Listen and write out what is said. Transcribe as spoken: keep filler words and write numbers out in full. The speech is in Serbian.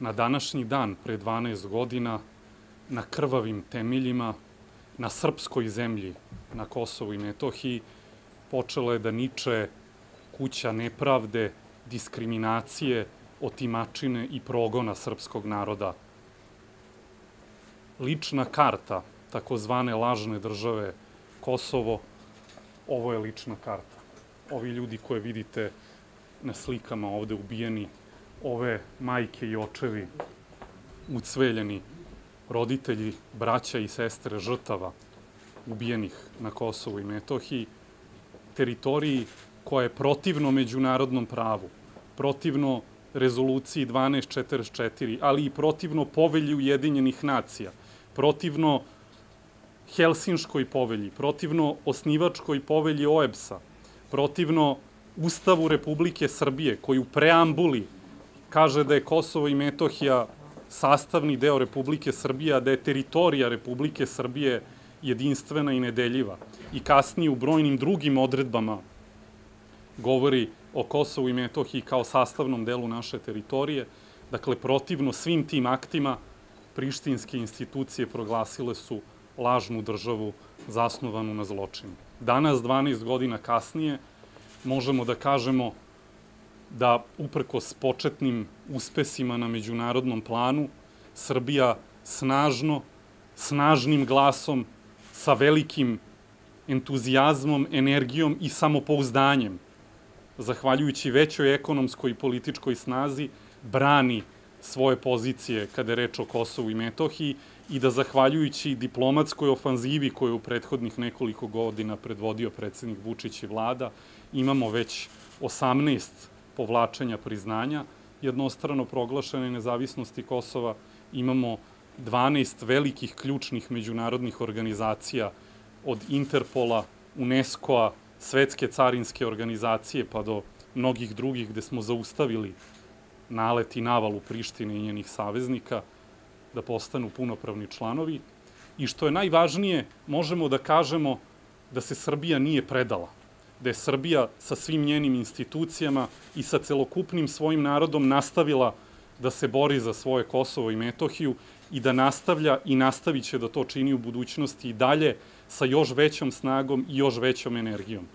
Na današnji dan, pre dvanaest godina, na krvavim temeljima, na srpskoj zemlji, na Kosovu i Metohiji, počela je da niče kuća nepravde, diskriminacije, otimačine i progona srpskog naroda. Lična karta takozvane lažne države Kosovo, ovo je lična karta. Ovi ljudi koje vidite na slikama ovde ubijeni, ove majke i očevi ucveljeni, roditelji, braća i sestre žrtava ubijenih na Kosovu i Metohiji, teritoriji koja je protivno međunarodnom pravu, protivno rezoluciji dvanaest četrdeset četiri, ali i protivno povelji Ujedinjenih nacija, protivno Helsinškoj povelji, protivno osnivačkoj povelji O E B S-a, protivno Ustavu Republike Srbije, koji u preambuli kaže da je Kosovo i Metohija sastavni deo Republike Srbije, a da je teritorija Republike Srbije jedinstvena i nedeljiva. I kasnije u brojnim drugim odredbama govori o Kosovu i Metohiji kao sastavnom delu naše teritorije. Dakle, protivno svim tim aktima, prištinske institucije proglasile su lažnu državu zasnovanu na zločinu. Danas, dvanaest godina kasnije, možemo da kažemo da, uprkos početnim uspesima na međunarodnom planu, Srbija snažno, snažnim glasom, sa velikim entuzijazmom, energijom i samopouzdanjem, zahvaljujući većoj ekonomskoj i političkoj snazi, brani svoje pozicije kada je reč o Kosovu i Metohiji i da, zahvaljujući diplomatskoj ofanzivi koju je u prethodnih nekoliko godina predvodio predsednik Vučić i vlada, imamo već osamnaest povlačenja priznanja jednostrano proglašene nezavisnosti Kosova, imamo dvanaest velikih ključnih međunarodnih organizacija, od Interpola, UNESCO-a, Svetske carinske organizacije, pa do mnogih drugih, gde smo zaustavili nalet i navalu Prištine i njenih saveznika da postanu punopravni članovi. I što je najvažnije, možemo da kažemo da se Srbija nije predala, da je Srbija sa svim njenim institucijama i sa celokupnim svojim narodom nastavila da se bori za svoje Kosovo i Metohiju i da nastavlja i nastavit će da to čini u budućnosti i dalje sa još većom snagom i još većom energijom.